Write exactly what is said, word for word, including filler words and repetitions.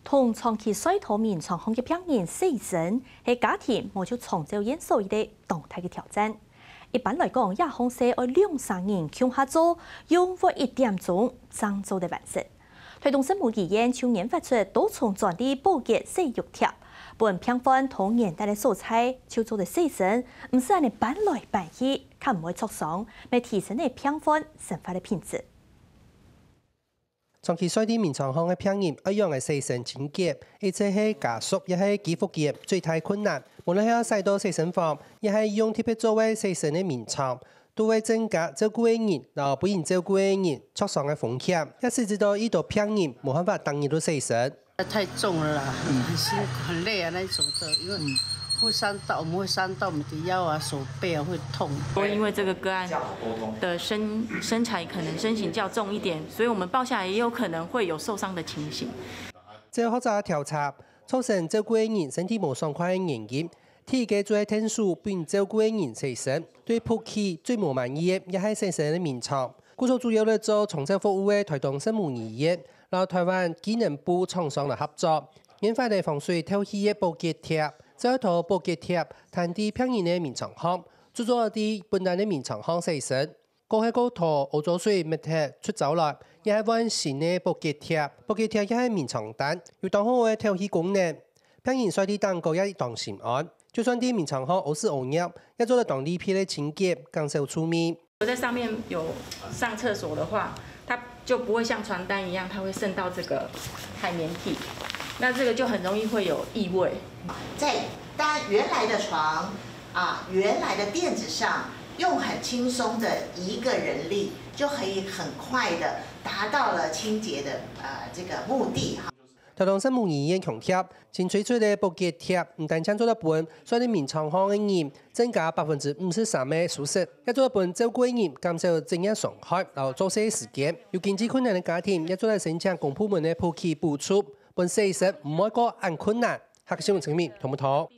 同長期睡到眠床項个病人洗身，係家庭無就長照院所一個當大个挑戰。一般來講，這項事愛兩三人共下做，用約一點鐘正做得完成。臺東聖母醫院就研發出多重專利保潔洗浴貼，分病患到遠端个所在就做得洗身，毋使恁呢搬來搬去，較毋會著傷，乜提升了病患生活个品質。 長期睡在眠床項个病人愛仰仔洗身清潔，一直係家屬也係居服員最大困難。無論係愛徙到洗身房，也係用特別座位洗身个眠床，都會增加照顧个人摎分人照顧个人著傷个風險，也使得到一多病人無辦法逐日都洗身。太重了啦，很辛苦、很累啊，那一種的，因為會傷到，我們會傷到我們的腰啊、手背啊，會痛。因為這個個案的身身材可能身形較重一點，所以我們抱下來也有可能會有受傷的情形。照學者調查，造成照顧个人身體無爽快个原因，第一個就係𢯭手分照顧个人洗身，對服氣最無滿意个也係洗身个眠床。故所主要來做長照服務个臺東聖母醫院，摎臺灣機能部廠商來合作，研發个防水透氣个保潔貼，再愛同保潔貼攤在病人个眠床項，就做得在本人个眠床項洗身。過後過拖，屙糟水搣忒捽走來，也係換新个保潔貼。保潔貼也係眠床單，有當好个透氣功能。病人睡在頂高也當心安，就算在眠床項屙屎屙尿，也做得當利便个清潔，減少臭味。我在上面有上廁所的話，它就不會像床單一樣，它會滲到這個海綿體，那這個就很容易會有異味。在單原來的床啊，原來的墊子上，用很輕鬆的一個人力，就可以很快的達到了清潔的呃這個目的哈。臺東聖母醫院強調，新推出个保潔貼毋單淨做得分睡在眠床項个人增加百分之五十三个舒適，也做得分照顧个人減少職業傷害摎作息時間。有經濟困難个家庭也做得申請公部門个保潔補助，分洗身毋會過恁困難。客家新聞陳明、唐木頭。